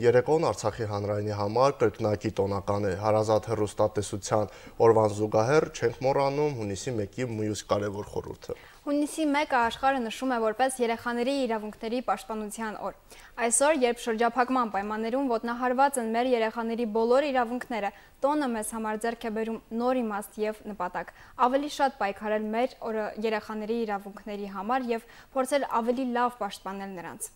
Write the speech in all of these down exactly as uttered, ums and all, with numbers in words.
Երեկոն Արցախի հանրայինի համար կրկնակի տոնական է, հարազատ հեռուստատեսության օրվան զուգահեռ չենք մոռանում հունիսի մեկի մյուս կարևոր խորհուրդը։ Հունիսի մեկը աշխարհը նշում է որպես երեխաների իրավունքների պաշտպանության օր։ Այսօր, երբ շրջափակման պայմաններում ոտնահարված են մեր երեխաների բոլոր իրավունքները, տոնը մեզ համար ձեռք է բերում նոր իմաստ եւ նպատակ, ավելի շատ պայքարել մեր երեխաների իրավունքների համար եւ փորձել ավելի լավ պաշտպանել նրանց։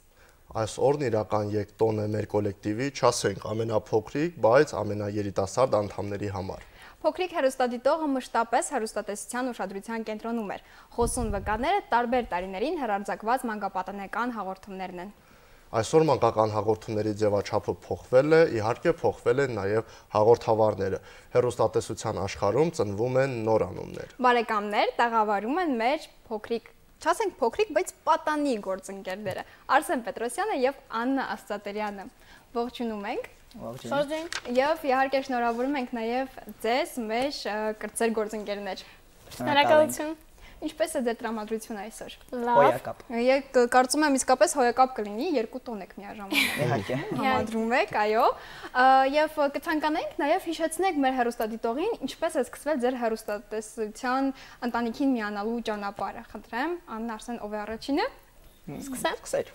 Այս օրն իրական եկտոն է մեր կոլեկտիվի, չասենք ամենափոքրիկ, բայց ամենաերիտասարդ անդամների համար։ Փոքրիկ հեռուստադիտողը մշտապես հեռուստատեսության ուշադրության կենտրոնում էր։ Խոսուն վկաները տարբեր տարիներին հեռարձակված մանկապատանեկան հաղորդումներն են։ Այսօր մանկական հաղորդումների ձևաչափը փոխվել է, իհարկե փոխվել են նաև հաղորդավարները։ Հեռուստատեսության աշխարհում ծնվում են նոր անուններ։ Բարեկամներ, տաղավարում են մեր փոքրիկ Չասենք փոքրիկ, բայց պատանի գործընկերները Արսեն Պետրոսյանը եւ Աննա Աստղատրյանը։ Ողջունում ենք։ Ողջույն։ Եվ իհարկե շնորհավորում ենք նաեւ ձեզ մեր կրտսեր գործընկերներ։ Շնորհակալություն։ Ինչպես է ձեր տրամադրությունը այսօր։ Հոյակապ։ Եկ կարծում եմ իսկապես հոյակապ կլինի, երկու տոն եք միաժամանակ։ Իհարկե։ Համադրում եք, այո։ Եվ կցանկանայինք նաև հիշեցնեք մեր հեռուստադիտողին, ինչպես է սկսվել ձեր հեռուստատեսության ընտանիքին միանալու ճանապարհը։ Խնդրեմ, Աննա Արսեն, ով է առաջինը։ Սկսեմ։ Սկսեր։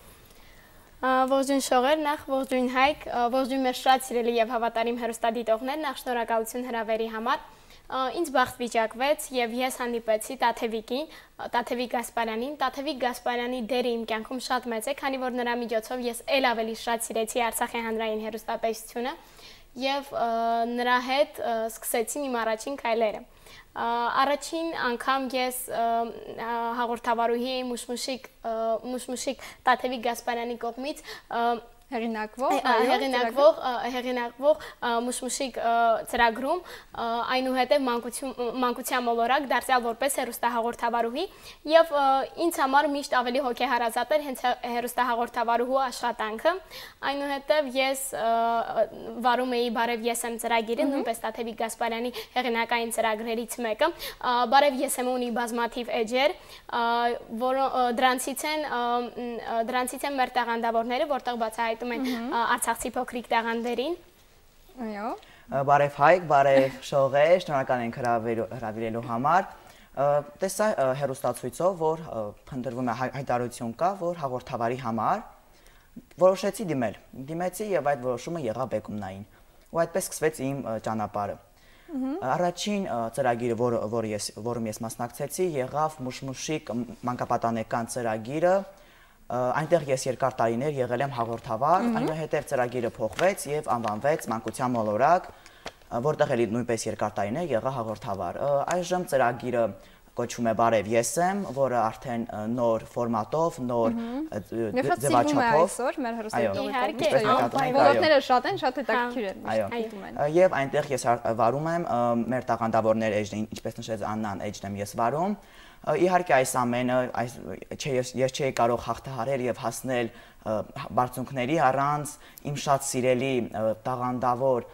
Ողջույն Շողեր, նախ ողջույն Հայկ, ողջույն մեր շատ սիրելի եւ հավատարիմ հեռուստադիտողներ, նախ շնորհակալություն հրավերի համար։ Ինձ բախտ վիճակվեց եւ ես հանդիպեցի Տաթևիկին, Տաթևիկ Գասպարյանին։ Տաթևիկ Գասպարյանի դերը իմ կյանքում շատ մեծ է, քանի որ նրա միջոցով ես ել ավելի շատ սիրեցի Արցախի հանրային հեռուստատեսությունը եւ նրա հետ սկսեցին իմ առաջին քայլերը։ Առաջին անգամ ես հաղորդավարուհի էի Մուշմուշիկ Մուշմուշիկ Տաթևիկ Գասպարյանի կողմից Հեղինակվող, հեղինակվող, հեղինակվող Մուշմուշիկ ծրագրում, այնուհետև մանկության մոլորակ դարձյալ որպես հեռուստահաղորդավարուհի եւ ինձ համար միշտ ավելի հոգեհարազատ էր հենց հեռուստահաղորդավարուհու աշխատանքը, այնուհետև ես վարում էի Բարև ես եմ ծրագիրը, նույնպես Տաթևիկ Գասպարյանի հեղինակային ծրագրերից մեկը, Բարև ես եմ ունի բազմաթիվ էջեր, դրանցից են դրանցից են մեր տաղանդավորները, որտեղ բացահայտ Արցախցի փոքրիկ տաղանդերին։ Այո։ Բարև Հայկ, բարև Շողեր, շնորհակալ ենք հրավիրելու համար։ Տեսա հեռուստացույցով, որ փնտրվում է հայտարարություն կա, որ հաղորդավարի համար որոշեցի դիմել։ Դիմեցի եւ այդ որոշումը եղավ բեկումնային։ Ու այդպես սկսվեց իմ ճանապարհը։ Առաջին ծրագիրը, որում ես մասնակցեցի, եղավ Մուշմուշիկ մանկապատանեկան ծրագիրը։ Այնտեղ ես երկար տարիներ եղել եմ հաղորդավար, այնուհետև ծրագիրը փոխվեց եւ անվանվեց Մանկության մոլորակ, որտեղ էլի նույնպես երկար տարիներ եղա հաղորդավար։ Այժմ ծրագիրը կոչվում է Բարև ես եմ, որը արդեն նոր ֆորմատով, նոր ձևաչափով։ Այսօր մեր հեռուստատեսության ոլորտները շատ են, շատ հետաքրքիր են, միշտ են։ Եվ այնտեղ ես վարում եմ մեր տաղանդավորներ էջն, ինչպես նշեց Աննան, էջն եմ ես վարում։ Իհարկե այս ամենը ես չէի կարող հաղթահարել եւ հասնել բարձունքների առանց իմ շատ սիրելի տաղանդավոր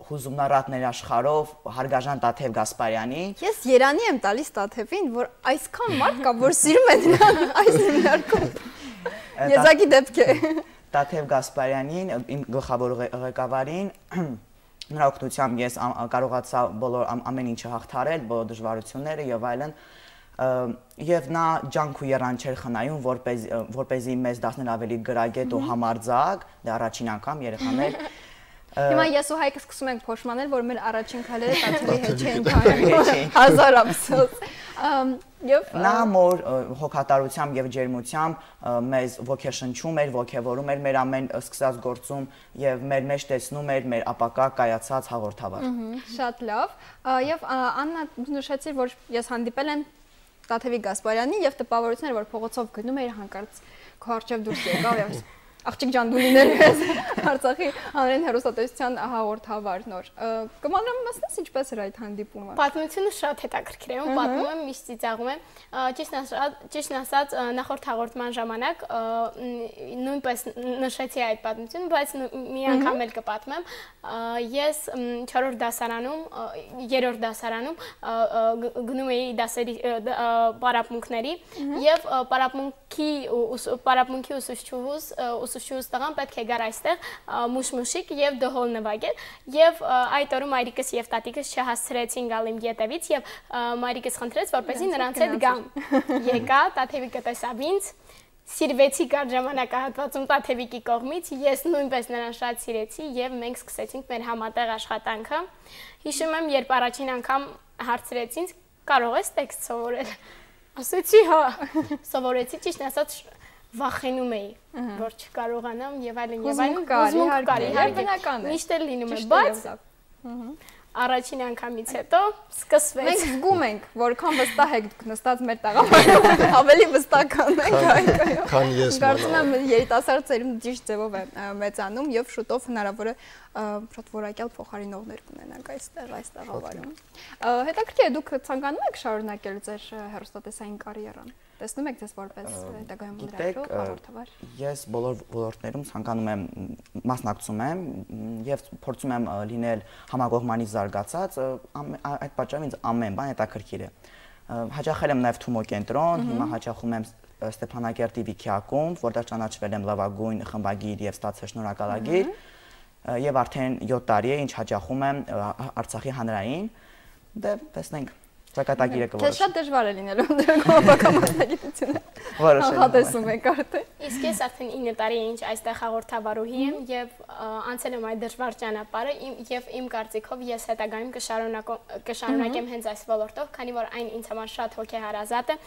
հուզումնառատներ աշխարհով հարգաժան Տաթև Գասպարյանի։ Ես երանի եմ տալիս Տաթևին, որ այսքան մարդ կա, որ սիրում են նրան այս հիմնարկում։ Եզակի դեպք է։ Տաթև Գասպարյանին, իմ գլխավոր ղեկավարին, նրա օգնությամբ ես կարողացա բոլոր ամեն ինչը հաղթահարել, բոլոր դժվարությունները եւ այլն։ Եվ նա ջանք ու եռան չէր խնայում, որպեսզի մեզ դարձնել ավելի գրագետ ու համարձակ, դա առաջին անգամ երեխաներ։ Հիմա ես ու Հայկը սկսում ենք փոշմանել, որ մեր առաջին քայլերը Տաթևի հետ չէին քայլում։ Հազար ափսոս։ Եվ նա մոր հոգատարությամբ եւ ջերմությամբ մեզ ոգեշնչում էր, ոգևորում էր մեր ամեն սկսած գործում եւ մեր մեջ տեսնում էր մեր ապակա կայացած հաղորդավար։ Շատ լավ։ Եվ Աննա, նշեցիր, որ ես հանդիպել եմ Տաթևիկ Գասպարյանին եւ տպավորություններ, որ փողոցով գնում էր հանկարծ քո առջև դուրս եկավ եւ աղջիկ ջան դու լինել ես Արցախի հանրային հեռուստատեսության հաղորդավար նոր։ Կմանրամասնես ինչպես էր այդ հանդիպումը։ Պատմությունը շատ հետաքրքիր է, ու պատմում եմ, միշտ ծիծաղում եմ։ Ճիշտ ասած, նախորդ հաղորդման ժամանակ նույնպես նշեցի այդ պատմությունը, բայց մի անգամ էլ կպատմեմ։ Ես չորրորդ դասարանում, երրորդ դասարանում գնում էի դասերի պարապմունքների եւ պարապմունքի պարապմունքի ուսուցչուհուս սուսյուս տղան պետք է գար այստեղ մուշմուշիկ եւ դհոլ նվագել եւ այդ օրը մայրիկս եւ տատիկս չհասցրեցին գալ իմ ետևից եւ մայրիկս խնդրեց որպեսզի նրանց հետ գամ եկա տաթևիկը տեսավ ինձ Սիրվեցի կար ժամանակահատվածում տաթևիկի կողմից, ես նույնպես նրան շատ սիրեցի եւ մենք սկսեցինք մեր համատեղ աշխատանքը։ Հիշում եմ, երբ առաջին անգամ հարցրեցին, կարող ես տեքստ սովորել։ Ասեցի, հա, սովորեցի, ճիշտ ասած վախենում էի, որ չկարողանամ եւ այլն եւ այլն, հուզմունք կար, իհարկե, միշտ էլ լինում է, բայց առաջին անգամից հետո սկսվեց։ Մենք զգում ենք, որքան վստահ եք նստած մեր տաղավարում, ավելի վստահ ենք, քան ես մնալ։ Կարծում եմ երիտասարդ ծերունդ ճիշտ ձևով է մեծանում եւ շուտով հնարավոր է շատ որակյալ փոխարինողներ կունենանք այստեղ, այս տաղավարում։ Հետաքրքիր է, դուք ցանկանում եք շարունակել ձեր հեռուստատեսային կարիերան։ Տեսնում եք ձեզ որպես հետագայում լրագրող, հաղորդավար։ Ես բոլոր ոլորտներում ցանկանում եմ մասնակցում եմ եւ փորձում եմ լինել համակողմանի զարգացած, այդ պատճառով ինձ ամեն բան հետաքրքիր է։ Հաճախել եմ նաեւ Թումո կենտրոն, հիմա հաճախում եմ Ստեփանակերտի Վիքի ակումբ, որտեղ ճանաչվել եմ լավագույն խմբագիր եւ ստացել շնորհակալագիր, եւ արդեն յոթ տարի է ինչ հաճախում եմ Արցախի հանրային, դե տեսնենք Ճակատագիրը կորոշ։ Քեզ շատ դժվար է լինելու ընդրակով բակամարտագիտությունը։ Նախատեսում եք արդեն։ Իսկ ես արդեն ինը տարի է ինչ այստեղ հաղորդավարուհի եմ եւ անցել եմ այդ դժվար ճանապարհը եւ իմ կարծիքով ես հետագայում կշարունակեմ հենց այս ոլորտով, քանի որ այն ինձ համար շատ հոգեհարազատ է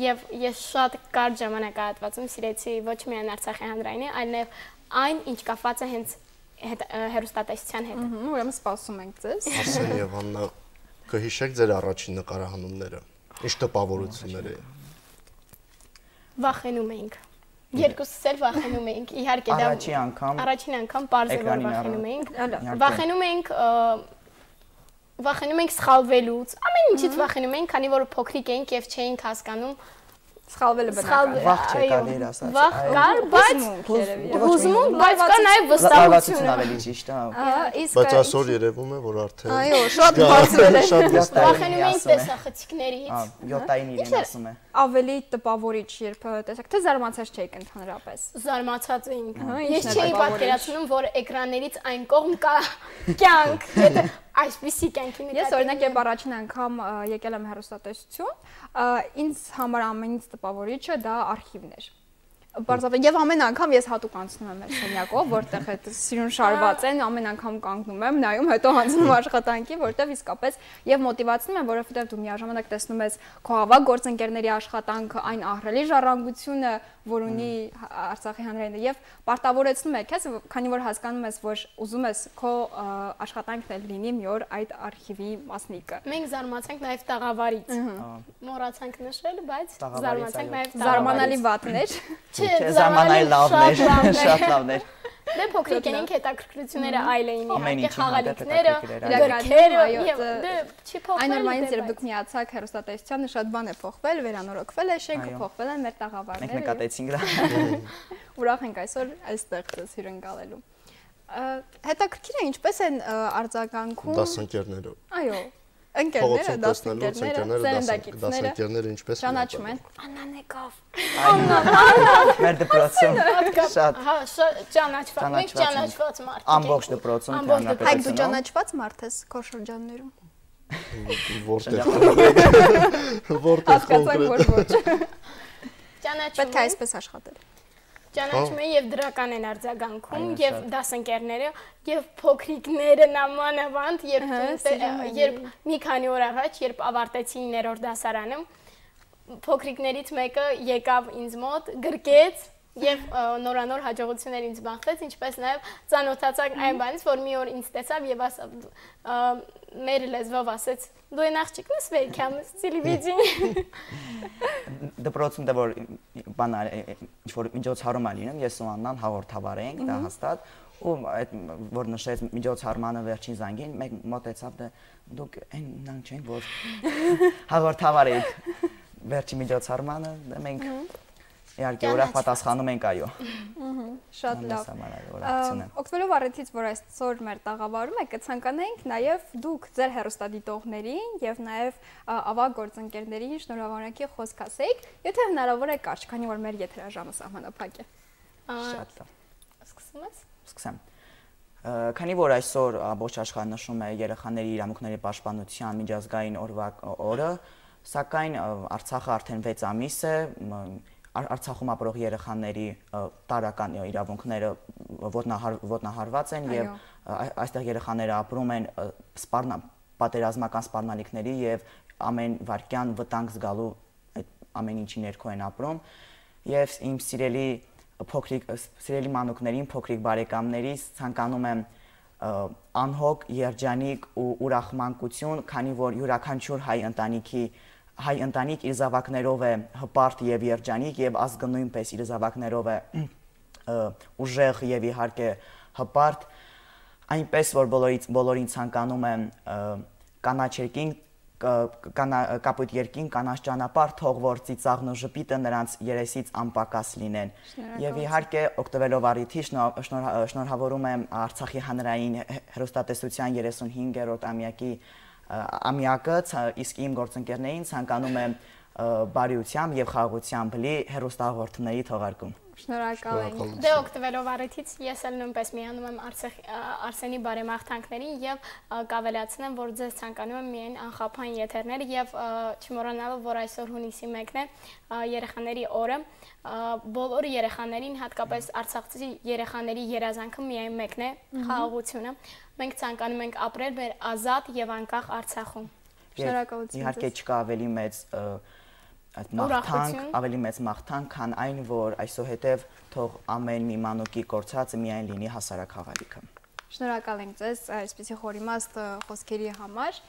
եւ ես շատ կարճ ժամանակահատվածում սիրեցի ոչ միայն Արցախի հանրայինը, այլև այն, ինչ կապված է հենց հեռուստատեսության հետ։ Ուրեմն սպասում ենք ձեզ։ Ասեն եւ Աննա Կհիշեք ձեր առաջին նկարահանումները, ինչ տպավորություններ էին։ Վախենում էինք։ Երկուսս էլ վախենում էինք, իհարկե դա առաջին անգամ առաջին անգամ պարզ է որ վախենում էինք։ Վախենում էինք վախենում էինք սխալվելուց, ամեն ինչից վախենում էինք, քանի որ փոքրիկ էինք եւ չէինք հասկանում Սխալվելը բնական է։ Վախ չէ կարելի ասած։ Վախ կար, բայց հուզմունք, բայց կա նաև վստահություն ավելի ճիշտ է։ Բայց այսօր երևում է, որ արդեն Այո, շատ բարձր է։ Վախենում ենք տեսախցիկներից։ յոթ տարին իրեն ասում է։ Ավելի տպավորիչ, երբ տեսակ, թե զարմացած չէիք ընդհանրապես։ Զարմացած էինք։ Ես չէի պատկերացնում, որ էկրաններից այն կողմ կա կյանք, եթե այսպիսի կյանքի նկատի։ Ես օրինակ երբ առաջին անգամ եկել եմ հեռուստատեսություն, ինձ համար ամենից տպավորիչը դա արխիվներ։ Բարձրապես եւ ամեն անգամ ես հատուկ անցնում եմ այդ սենյակով, որտեղ այդ սիրուն շարված են, ամեն անգամ կանգնում եմ, նայում, հետո անցնում աշխատանքի, որտեղ իսկապես եւ մոտիվացնում եմ, որովհետեւ դու միաժամանակ տեսնում ես քո ավագ գործընկերների աշխատանքը, այն ահռելի ժառանգությունը, որ ունի Արցախի հանրայինը եւ պարտավորեցնում է քեզ, քանի որ հասկանում ես, որ ուզում ես քո աշխատանքն էլ լինի մի օր այդ արխիվի մասնիկը։ Մենք զարմացանք նաեւ տաղավարից։ Մոռացանք նշել, բայց զարմացանք նաեւ զարմանալի վատներ։ Չէ, զարմանալի լավներ, շատ լավներ։ Դե փոքրիկ էինք, հետաքրքրությունները այլ էին, իհարկե ինչ խաղալիքները, գրքերը, եւ դե չի փոխվել։ Այն նորմալից երբ դուք միացաք հեռուստատեսությանը, շատ բան է փոխվել, վերանորոգվել է շենքը, փոխվել են մեր տաղավարները։ Մենք նկատեցինք դա։ Ուրախ ենք այսօր այստեղ ձեզ հյուրընկալելու։ Հետաքրքիր է ինչպես են արձագանքում դասընկերները։ Այո, ընկերները, դասընկերները, սերնդակիցները, դասընկերները ինչպես ճանաչում են։ Աննան եկավ։ Մեր դպրոցում շատ հա, ճանաչված, մենք ճանաչված մարդ ենք։ ամբողջ դպրոցում Հայկ դու ճանաչված մարդ ես քո շրջաններում։ Որտեղ որտեղ կոնկրետ։ Ճանաչում Պետք է այսպես աշխատել։ Ճանաչում են եւ դրական են արձագանքում եւ դասընկերները եւ փոքրիկները նամանավանդ երբ երբ մի քանի օր առաջ երբ ավարտեցի իններորդ դասարանը փոքրիկներից մեկը եկավ ինձ մոտ գրկեց եւ նորանոր հաջողություններ ինձ բախվեց ինչպես նաեւ ծանոթացանք այն բանից որ մի օր ինձ տեսավ եւ ասավ մեր լեզվով ասեց դու այն աղջիկն ես վերքամ տելևիզիոն դպրոցում դե որ բան ինչ որ միջոցառում ա լինում ես ու Աննան հաղորդավար ենք դա հաստատ ու այդ որ նշեց միջոցառմանը վերջին զանգին մեկ մոտեցավ դե դուք այն նրանք չեն որ հաղորդավար եք վերջի միջոցառմանը դե մենք իհարկե ուրախ պատասխանում ենք այո շատ լավ օգտվելով առիթից որ այսօր մեր տաղավարում եք կցանկանայինք նաև դուք ձեր հեռուստադիտողներին եւ նաև ավագ գործընկերներին շնորհավորակի խոսք ասեիք եթե հնարավոր է կարճ քանի որ մեր եթերաժամը սահմանափակ է շատ լավ Սկսում ես։ Սկսեմ։ Քանի որ այսօր ամբողջ աշխարհը նշում է երեխաների իրավունքների պաշտպանության միջազգային օրվա օրը, սակայն Արցախը արդեն վեց ամիս է, Արցախում ապրող երեխաների տարրական իրավունքները ոտնահարված են եւ այստեղ երեխաները ապրում են պատերազմական սպառնալիքների եւ ամեն վայրկյան վտանգ զգալու ամեն ինչի ներքո են ապրում եւ իմ սիրելի փոքրիկ սիրելի մանուկներին, փոքրիկ բարեկամներից ցանկանում եմ անհոգ, երջանիկ ու ուրախ մանկություն, քանի որ յուրաքանչյուր հայ ընտանիքի հայ ընտանիք իր զավակներով է հպարտ եւ երջանիկ եւ ազգը նույնպես իր զավակներով է ուժեղ եւ իհարկե հպարտ, այնպես որ բոլորից բոլորին ցանկանում եմ կանաչերքին կապույտ երկին, կանաչ ճանապարհ, թող որ ծիծաղն ու ժպիտը նրանց երեսից անպակաս լինեն։ Եվ իհարկե օգտվելով առիթից շնորհավորում եմ Արցախի հանրային հեռուստատեսության երեսունհինգերորդ ամյակի ամյակը, իսկ իմ գործընկերներին ցանկանում եմ բարիությամբ եւ խաղաղությամբ լի հեռուստահաղորդումների թողարկում։ Շնորհակալ եմ։ Դե օգտվելով առիթից ես էլ նույնպես միանում եմ Արսենի բարեմաղթանքներին եւ կավելացնեմ, որ ձեզ ցանկանում եմ միայն անխափան եթերներ եւ չմոռանալով, որ այսօր հունիսի մեկն է երեխաների օրը, բոլոր երեխաներին, հատկապես արցախցի երեխաների երազանքը միայն մեկն է՝ խաղաղությունը։ Մենք ցանկանում ենք ապրել մեր ազատ եւ անկախ Արցախում։ Շնորհակալություն։ Իհարկե չկա ավելի մեծ մաղթանք, ավելի մեծ մաղթանք, քան այն, որ այսուհետև թող ամեն մի մանուկի կորցածը միայն լինի հասարակ խաղալիքը։ Շնորհակալ ենք ձեզ այսպիսի խորիմաստ խոսքերի համար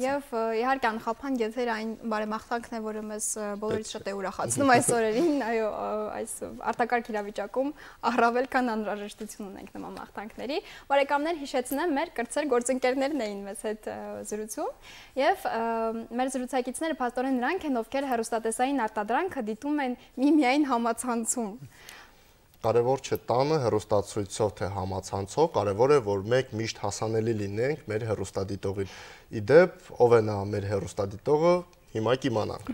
եւ իհարկե անխափան եթեր այն բարեմաղթանքն է, որը մեզ բոլորից շատ է ուրախացնում այս օրերին, այո, այս արտակարգ իրավիճակում առավել քան անհրաժեշտություն ունենք նման մաղթանքների։ Բարեկամներ, հիշեցնեմ, մեր կրտսեր գործընկերներն էին մեզ հետ զրուցում եւ մեր զրուցակիցները փաստորեն նրանք են, ովքեր հեռուստատեսային արտադրանքը դիտում են միմիայն համացանցում։ Կարևոր չէ տանը հեռուստացույցով թե համացանցով, կարևոր է, որ մենք միշտ հասանելի լինենք մեր հեռուստադիտողին։ Իդեպ, ով է նա մեր հեռուստադիտողը, հիմա կիմանանք։